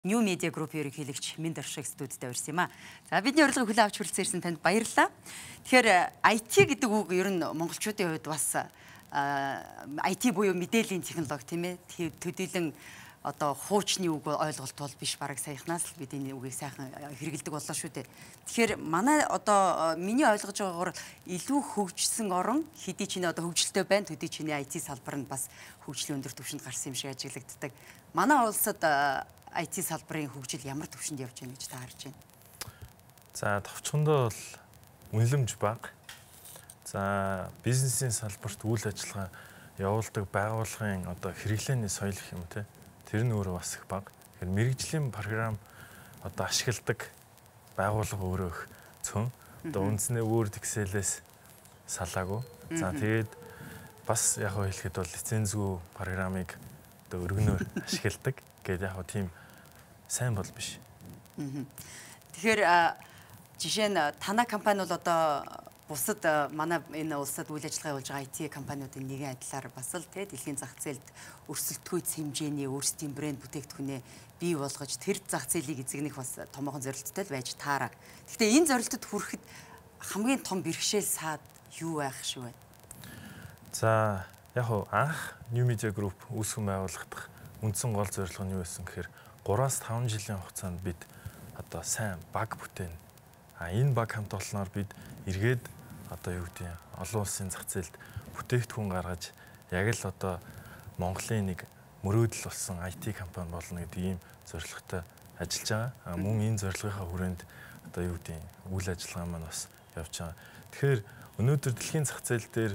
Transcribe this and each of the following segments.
New Media Group ерөнхийлөгч Минд Оршиг студид авирсан юм а. За бидний урилгыг хүлээн авч хүрэлцэн ирсэн танд баярлалаа. Тэгэхээр IT гэдэг үг ер нь монголчуудын хувьд бас IT буюу мэдээллийн технологи тийм ээ. Төдийлөн одоо хуучны үг ойлголт бол биш, бараг саяхнаас л бид энэ үгийг сайхан хэрэгэлдэг боллоо шүү дээ. Тэгэхээр манай одоо миний ойлгож байгаагаар илүү хөгжсөн орон хэдий ч нэ одоо хөгжилтэй байна, төдий ч нэ IT салбар нь бас хөгжлийн өндөр түвшинд гарсан юм шиг ажиглагддаг. Манай улсад IT салбарын хөгжил ямар түвшинд явж байна гэж та харж байна? За товчхондоо бол үнэлэмж бага. За бизнесийн салбарт үйл ажиллагаа явуулдаг байгууллагын одоо хэрэглээний соёл гэх юм те. Тэр нь өөрөө бас их бага. Тэгэхээр мэрэгжлийн програм одоо ашигладаг байгууллага өөрөө их цөөн. Одоо үндснээ Word, Excel-ээс салаагүй. За тэгээд бас яг хэлэхэд бол лицензгүй програмыг одоо өргөнөөр ашигладаг гэдэг яг тийм сайн бол биш. Тэгэхээр жишээ нь танай компани бол одоо бусад манай энэ улсад үйл ажиллагаа явуулж байгаа IT компаниудын нэгэн адилаар бас л дэлхийн зах зээлд өрсөлдөхүйц хэмжээний өөрсдийн брэнд бүтээгдэхүүнээ бий болгож тэр зах зээлийг эзэгнэх бас томоохон зорилттой л байж таараа. Гэхдээ энэ зорилтод хүрэхэд хамгийн том бэрхшээл саад юу байх шиг байна? За яг анх New Media Group үүсгэн байгуулагдах үндсэн гол зорилго нь юу байсан гэхээр 3-5 жилийн хугацаанд бид одоо сайн баг бүтээн. Энэ баг хамт олноор бид эргээд одоо юу гэдэг олон улсын зах зээлд бүтээгдэхүүн гаргаж яг л одоо Монголын нэг мөрөөдөл болсон IT компани болно гэдэг ийм зорилготой ажиллаж байгаа. Мөн энэ зорилгынхаа хүрээнд одоо юу гэдэг үйл ажиллагаа маань бас явж байгаа. Тэгэхээр өнөөдөр дэлхийн зах зээл дээр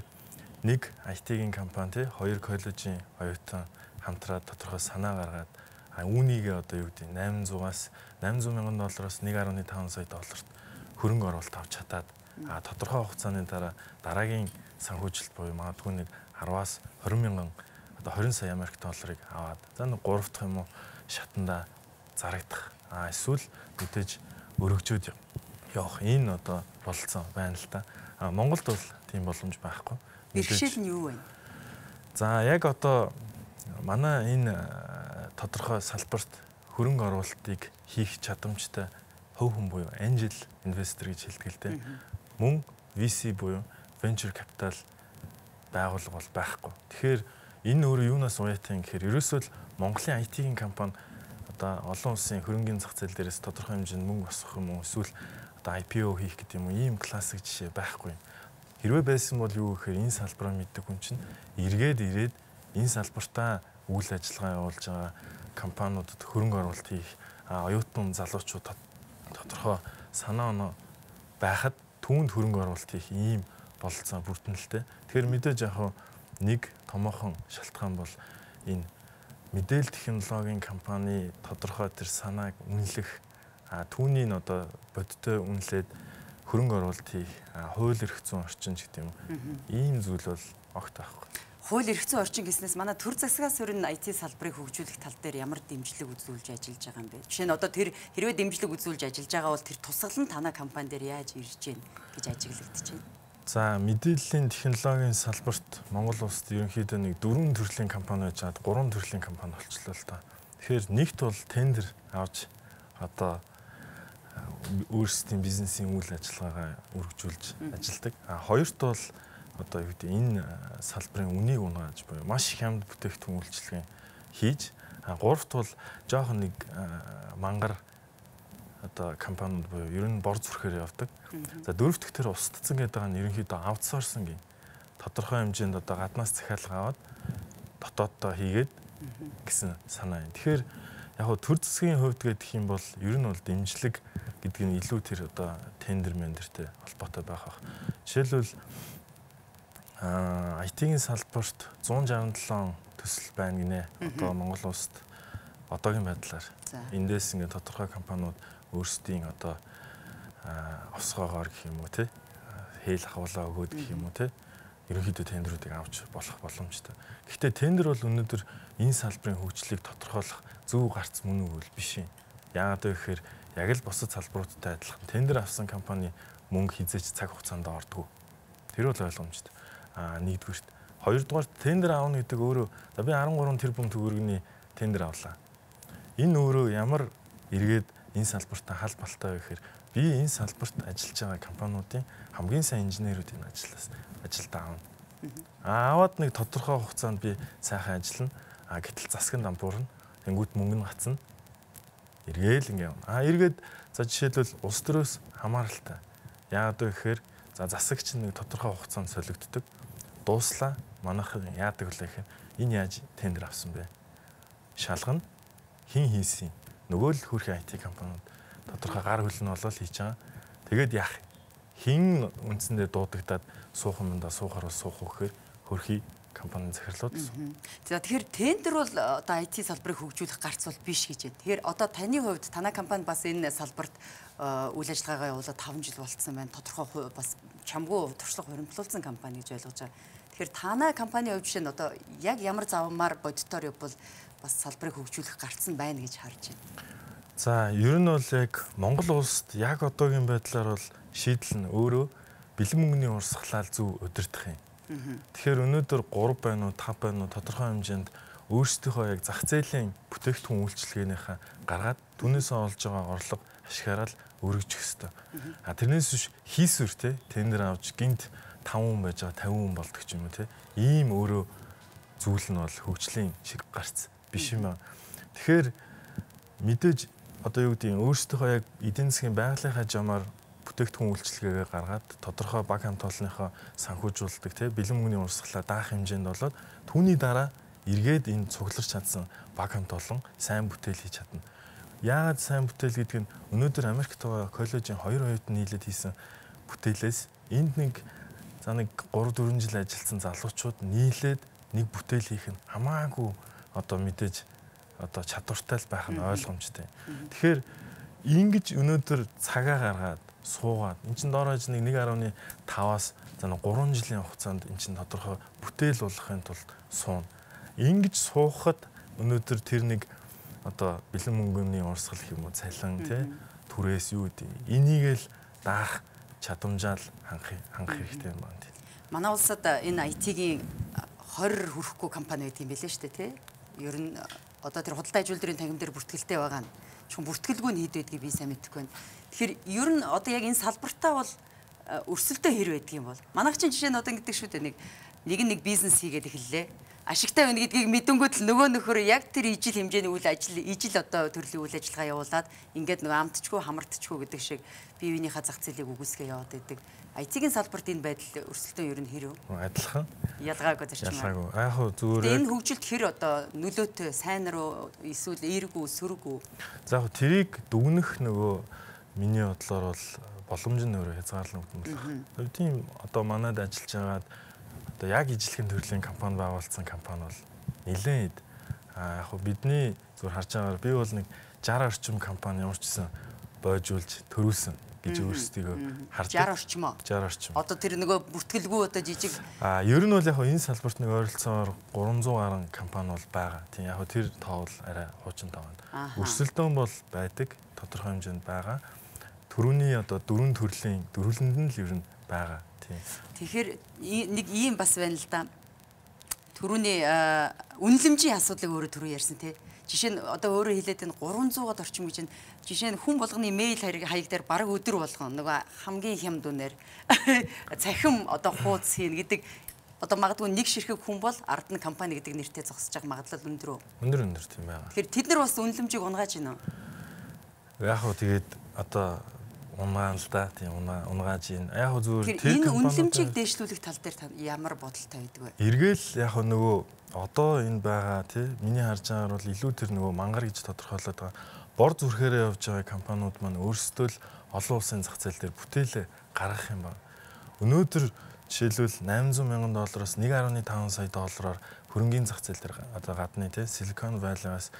нэг IT-ийн компани тий хоёр коллежийн оюутан хамтраад тодорхой санаа гаргаад үүнийгээ одоо юу гэдэг 800-аас 800 мянган доллароос 1.5 сая долларт хөрөнгө оруулалт авч чадаад тодорхой хугацааны дараа дараагийн санхүүжилт буюу магадгүй нэг 10-аас 20 мянган одоо 20 сая Америк долларыг аваад за нэг 3 дахь юм уу шатанда зарагдах эсвэл мэдээж өргөжөөд явах энэ одоо болцсон байна л да. Монголд бол тийм боломж байхгүй. Бэрхшээл нь юу вэ? За яг одоо манай энэ тодорхой салбарт хөрөнгө оруулалтыг хийх чадамжтай хөв хүн буюу angel investor гэж хэлдэг л дээ. Мөн VC буюу venture capital байгууллага бол байхгүй. Тэгэхээр энэ өөрөө юунаас уяатай юм гэхээр ерөөсөө л Монголын IT-ийн компани одоо олон улсын хөрөнгөний зах зээл дээрээс тодорхой хэмжээнд мөнгө босгох юм уу эсвэл одоо IPO хийх гэдэг юм уу ийм классик жишээ байхгүй. Хэрвээ байсан бол юу гэхээр энэ салбараа мэддэг хүн чинь ирээд энэ салбартаа үйл ажиллагаа явуулж байгаа компаниудад хөрөнгө оруулалт хийх оюутан залуучууд тодорхой санаа оноо байхад түүнд хөрөнгө оруулалт хийх ийм бололцоо бүртэнэлтэй. Тэгэхээр мэдээж яг нэг томоохон шалтгаан бол энэ мэдээлэл технологийн компани тодорхой тэр санааг үнэлэх түүнийг одоо бодиттой үнэлээд хөрөнгө оруулалт хийх хууль эрх зүйн орчин гэдэг юм. Ийм зүйл бол огт байхгүй. Хууль эрх зүйн орчин гэснээс манай төр засгаас өрн IT салбарыг хөгжүүлэх тал дээр ямар дэмжлэг үзүүлж ажиллаж байгаа юм бэ? Жишээ нь одоо тэр хэрвээ дэмжлэг үзүүлж ажиллаж байгаа бол тэр тусгал нь танай компани дээр яаж ирж гин гэж ажиглагдаж байна. За мэдээллийн технологийн салбарт Монгол улсад ерөнхийдөө нэг 4 төрлийн компани байж хаад 3 төрлийн компани болчихлоо л доо. Тэгэхээр нэгт бол тендер авч одоо өөрсдийн бизнесийн үйл ажиллагаагаа үргэлжлүүлж ажилладаг. Хоёрт бол одоо юу гэдэг энэ салбарын үнийг унгааж буюу маш их хямд бүтээгдэхүүн үйлчилгээ хийж гуравт бол жоохон нэг мангар одоо компаниуд буюу ер нь бор зүрхээр явдаг. За дөрөвт гэхээр устдсан гэдэг нь ерөнхийдөө аутсорсинг юм. Тодорхой хэмжээнд одоо гаднаас захиалга аваад дотооддоо хийгээд гэсэн санаа юм. Тэгэхээр яг хөө төр засгийн хувьд гэдэг юм бол ер нь бол дэмжлэг гэдэг нь илүү тэр одоо тендер мендертэй холбоотой байх бах. Жишээлбэл IT-ийн салбарт 167 төсөл байна гинэ. Одоо Монгол улсад одоогийн байдлаар эндээс ингээд тодорхой компаниуд өөрсдийн одоо осгоогоор гэх юм уу те хээл ахуулаа өгөөд гэх юм уу те ерөнхийдөө тендерүүдийг авч болох боломжтой. Гэхдээ тендер бол өнөөдөр энэ салбарын хөгжлийг тодорхойлох зөв гарц мөн үгүй биш юм. Яагаад гэвэл яг л бусад салбаруудтай адилхан тендер авсан компани мөнгө хизээч цаг хугацаанд ордог. Тэр бол ойлгомжтой. Нэгдүгürt. Хоёрдугаар тендер аавна гэдэг өөрөө би 13 тэрбум төгрөгийн тендер авлаа. Энэ өөрөө ямар эргээд энэ салбартаа халбалтай вэ гэхээр би энэ салбарт ажиллаж байгаа компаниудын хамгийн сайн инженерүүдийн ажилд аавна. Аваад нэг тодорхой хугацаанд би сайхан ажиллана. Гэтэл засгийн дампуурна. Тэнгүүт мөнгө нь гацна. Эргээл ингэ явна. Эргээд за жишээлбэл улс төрөөс хамааралтай. Яагаад вэ гэхээр за засагч нэг тодорхой хугацаанд солигддог. Дууслаа. Манайхан яадаг вэ гэхээр энэ яаж тендер авсан бэ? Шалгана. Хин хийсэн. Нөгөө л хөрхийн IT компаниуд тодорхой гар хөлн болол хийж байгаа. Тэгээд яах? Хин үндсэндээ дуудагдаад суух юмдаа суухаар суух гэхээр хөрхий компанийн захирлууд. За тэгэхээр тендер бол одоо IT салбарыг хөгжүүлэх гарц бол биш гэж байна. Тэгэхээр одоо таны хувьд танай компани бас энэ салбарт үйл ажиллагаагаа явуулаад 5 жил болцсон байна. Тодорхой бас чамгүй туршлага хуримтлуулсан компани гэж ойлгож байгаа. Тэгэхээр танай компанийн хувьд чинь одоо яг ямар завмаар бодитоор явбал бас салбарыг хөгжүүлэх гарц нь байна гэж харж байна. За ер нь бол яг Монгол улсад яг одоогийн байдлаар бол шийдэл нь өөрөө бэлэн мөнгөний урсгалаар зөв удирдах юм. Тэгэхээр өнөөдөр 3 байна уу 5 байна уу тодорхой хэмжээнд өөрсдийнхөө яг зах зээлийн бүтээгдэхүүн үйлчилгээнийхээ гаргаад түүнээсээ олж байгаа орлого ашиглаад өргөжих ёстой. Тэрнээс биш хийсвэр те тендер авч гинт 5 хүн байж байгаа 50 хүн болдог ч юм уу те. Ийм өөрөө зүйл нь бол хөгжлийн шиг гарц биш юм аа. Тэгэхээр мэдээж одоо юу гэдэг нь өөрсдийнхөө яг эдийн засгийн байгалийнхаа жамаар бүтээгдэхүүн үйлчилгээгээ гаргаад тодорхой баг хамт олонныхоо санхүүжүүлдэг тий бэлэн мөнгөний урсгалаа даах хэмжээнд болоод түүний дараа эргээд энэ цугларч чадсан баг хамт олон сайн бүтээл хийж чадна. Яагаад сайн бүтээл гэдэг нь өнөөдөр Америкт байгаа коллежийн 2 оюутан нийлээд хийсэн бүтээлээс энд нэг 3-4 жил ажилласан залуучууд нийлээд нэг бүтээл хийх нь хамаагүй одоо мэдээж одоо чадвартай л байх нь ойлгомжтой. Тэгэхээр ингэж өнөөдөр цагаа гаргаад суугаад эн чин доорож нэг 1.5-аас 3 жилийн хугацаанд эн чин тодорхой бүтээл болгохын тулд суuna. Ингэж суухад өнөөдөр тэр нэг одоо бэлэн мөнгөний урсгал гэх юм уу цалин тий түрээс юу гэдэг энийг л даах чадамжаал хангах хэрэгтэй юм байна. Манай улсад энэ IT-гийн 20 хүрэхгүй компани байдаг юм билээ шүү дээ тий. Ер нь одоо тэр худалдаа ажилтны тангим дээр бүртгэлтэй байгаа нь чухал бүртгэлгүй нь хэд байдгийг би сайн мэдэхгүй байна. Тэгэхээр ер нь одоо яг энэ салбартаа бол өрсөлдөө хэр байдгийг бол манайх чинь жишээ нь одоо ингэдэг шүү дээ нэг бизнес хийгээд эхэллээ. Ашигтай байна гэдгийг мэдэнгүүт л нөгөө нөхөр яг тэр ижил хэмжээний үйл ажил ижил одоо төрлийн үйл ажиллагаа явуулаад ингээд нөгөө амтчгүй хамартчгүй гэдэг шиг бие биенийхээ зах зээлийг үгүйсгээ яваад байдаг. IT-ийн салбарт энэ байдал өрсөлдөөн ер нь хэр вэ? Адилхан. Ялгаагүй зарчим. Ялгаагүй. Яг хөө зүгээр. Энэ хөгжилт хэр одоо нөлөөтэй сайн руу эсвэл эергүй сөрөг үү? За яг тэрийг дүгнэх нөгөө миний бодлоор бол боломж нь өөрөө хязгаарлагдсан байна. Тийм одоо манайд ажиллаж байгаад одоо яг ижлэхэн төрлийн компани байгуулсан компани бол нэлээд яг хөө бидний зүгээр харж байгаагаар би бол нэг 60 орчим компани ямар ч гэсэн бойжуулж төрүүлсэн гэж өөрсдийгөө хардаг. 60 орчим уу? 60 орчим. Одоо тэр нөгөө бүртгэлгүй одоо жижиг ер нь бол яг энэ салбарт нэг ойролцоогоор 300 гаруй компани бол байгаа. Тийм яг тэр тоо бол арай хуучин тоо байна. Өрсөлдөөн бол байдаг, тодорхой хэмжээнд байгаа. Төрөний одоо дөрвөн төрлийн дөрвөлөнд нь л ер нь байгаа. Тийм. Тэгэхээр нэг ийм бас байна л да. Төрөний үнэлэмжийн асуудлыг өөрөө түрүү ярьсан тий. Жишээ нь одоо өөрөө хэлээд энэ 300-аад орчим гэж жишээ нь хүн болгоны мэйл хаяг дээр бараг өдөр болгоно нөгөө хамгийн хямд үнээр цахим одоо хууц хийн гэдэг одоо магадгүй нэг ширхэг хүн бол ард нь компани гэдэг нэртэй зогсож байгаа магадлал өндөр үү? Өндөр тийм байгаа. Тэгэхээр тэд нар бас үнэлэмжийг унгааж байна уу? Яг хөө тэгээд одоо унгаан л да тийм унгааж ийн. Яг хөө зүгээр тэр энэ үнэлэмжийг дээшлүүлэх тал дээр ямар бодолтой байдаг вэ? Эргээл яг хөө нөгөө одоо энэ байгаа тий миний харж байгаагаар бол илүү тэр нөгөө мангар гэж тодорхойлоод байгаа бор зүрхээрээ явж байгаа компаниуд маань өөрсдөө л олон улсын зах зээл дээр бүтээлээ гаргах юм байна. Өнөөдөр жишээлбэл $800,000-оос $1.5 сая хөрөнгийн зах зээл дээр одоо гадны тий Silicon Valley-аас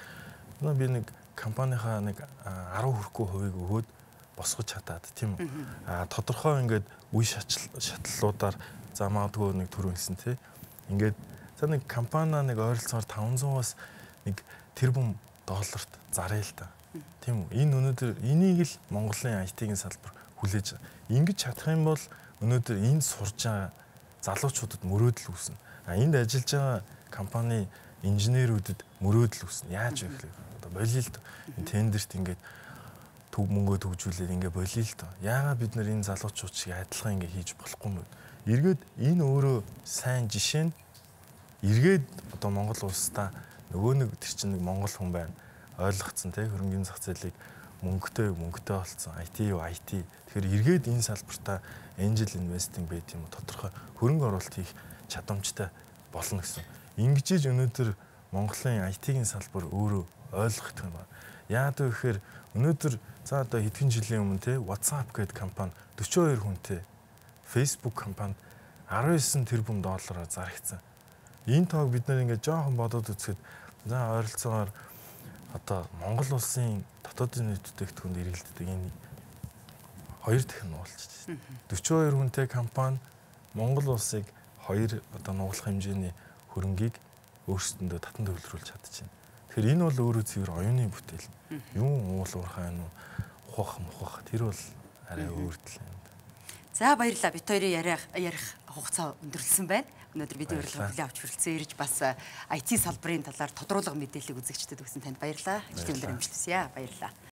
би нэг компанийнхаа нэг 10 хүрэхгүй хувийг өгөөд босгож чадаад тийм үү. Тодорхой ингээд үе шатлалуудаар за магадгүй нэг төр хэлсэн тий ингээд за нэг компани нэг ойролцоогоор 500-аас нэг тэрбум долларт заръя л та. Тийм үү. Энэ өнөөдөр энийг л Монголын IT-ийн салбар хүлээж ингэж чадах юм бол өнөөдөр энд сурж байгаа залуучуудад мөрөөдөл үүснэ. Энд ажиллаж байгаа компани инженерүүдэд мөрөөдөл үүснэ. Яаж вэ гэхээр одоо болио л доо. Тендерт ингээд төв мөнгөө төгжүүлээд ингээд болио л доо. Яагаад бид нар энэ залуучууд шиг адилхан ингээд хийж болохгүй юм бэ? Эргээд энэ өөрөө сайн жишээ нь эргээд одоо Монгол улстай нөгөө нэг тэр чинь нэг монгол хүн байна. Ойлгоцсон те хөрөнгөний зах зээлийг мөнгөтэй болцсон. IT юу IT. Тэгэхээр эргээд энэ салбартаа angel investing байт юм уу тодорхой хөрөнгө оруулалт хийх чадамжтай болно гэсэн. Ингэж өнөөдөр Монголын IT-ийн салбар өөрөө ойлгох юм байна. Яагаад вэ гэхээр өнөөдөр за одоо хэдхэн жилийн өмнө те WhatsApp гэдэг компани 42 хүнтэй Facebook компанид 19 тэрбум доллараар зарагдсан. Энэ тоог бид нэр ингээд жоохон бодоод үзэхэд за ойролцоогоор одоо Монгол улсын дотоодын нийт бүтээгдэхүүнд эргэлддэг энэ 2 дахин нуулчихсан. 42 хүнтэй компани Монгол улсыг 2 одоо нугалах хэмжээний хөрөнгийг өөрсдөндөө татан төвлөрүүлж чадчихэв. Тэгэхээр энэ бол өөрөө цэвэр оюуны бүтээл. Юу уул уурхай нь ухах тэр бол арай өөртөл юм. За баярлалаа. Бид хоёрын ярих хугацаа өндөрлсөн байна. Өнөөдөр бидний урилга хүлээн авч хүрэлцэн ирж бас IT салбарын талаар тодруулга мэдээллийг үзэгчдэд өгсөн танд баярлалаа. Ихтэй өндөр амжилт хүсье. Баярлалаа.